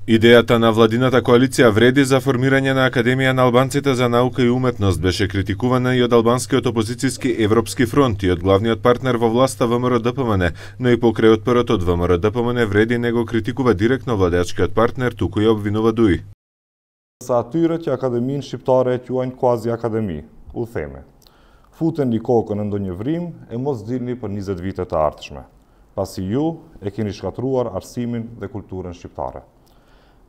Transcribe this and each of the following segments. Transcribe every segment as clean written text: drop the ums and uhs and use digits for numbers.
Идејата на владината коалиција Вреди за формирање на Академија на албанците за наука и уметност беше критикувана и од албанскиот опозицијски Европски фронт и од главниот партнер во власта ВМРО-ДПМН, но и покрај отпорот од ВМРО-ДПМН Вреди не го критикува директно владеачкиот партнер, туку и обвинува ДУИ. Sa atyre që akademinë shqiptare e quajnë quasi akademi, u theme. Futeni kokën në ndonjë vrim e mos dilni për 20 vite të ardhshme, pasi ju e keni shkatruar arsimin dhe kulturën shqiptare.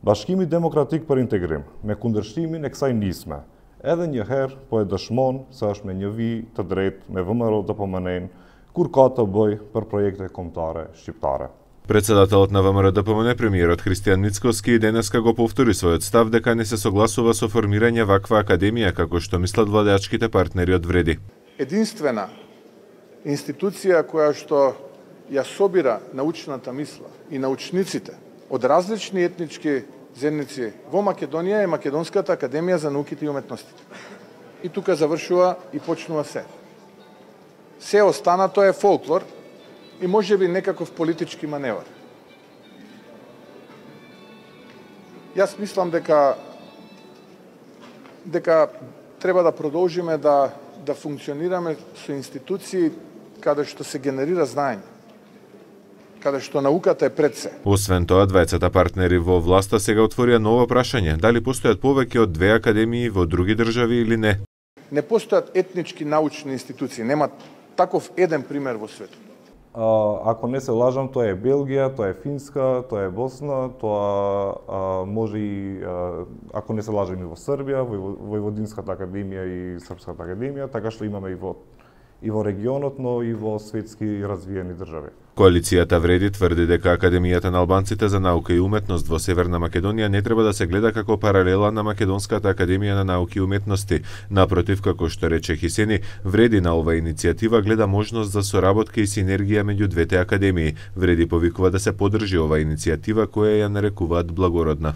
Bashkimi Demokratik për Integrim, me kundërshtimin e kësaj nisme, edhe njëherë po e dëshmon se është me një vijë të drejtë me ВМРО-ДПМН kur ka të bëj për projekte kombëtare shqiptare. Председателот на ВМРО-ДПМН, премиерот Христијан Мицковски, денеска го повтори својот став дека не се согласува со формирање ваква академија, како што мислат владеачките партнери од Вреди. Единствена институција која што ја собира научната мисла и научниците од различни етнички заедници во Македонија е Македонската академија за науките и уметностите. И тука завршува и почнува се. Се останато е фолклор и можеби некаков политички маневар. Јас мислам дека треба да продолжиме да функционираме со институции каде што се генерира знаење, каде што науката е пред се. Освен тоа, двајцата партнери во власта сега отворија ново прашање, дали постојат повеќе од 2 академии во други држави или не. Не постојат етнички научни институции, нема таков еден пример во светот. Ако не се лажам, тоа е Белгија, тоа е Финска, тоа е Босна, тоа може и, ако не се лажам, и во Србија, Војводинската академија и Српската академија, така што имаме и во регионот, но и во светски развиени држави. Коалицијата Вреди тврди дека Академијата на албанците за наука и уметност во Северна Македонија не треба да се гледа како паралела на Македонската академија на науки и уметности. Напротив, како што рече Хисени, Вреди на оваа иницијатива гледа можност за соработка и синергија меѓу двете академии. Вреди повикува да се поддржи оваа иницијатива која ја нарекуваат благородна.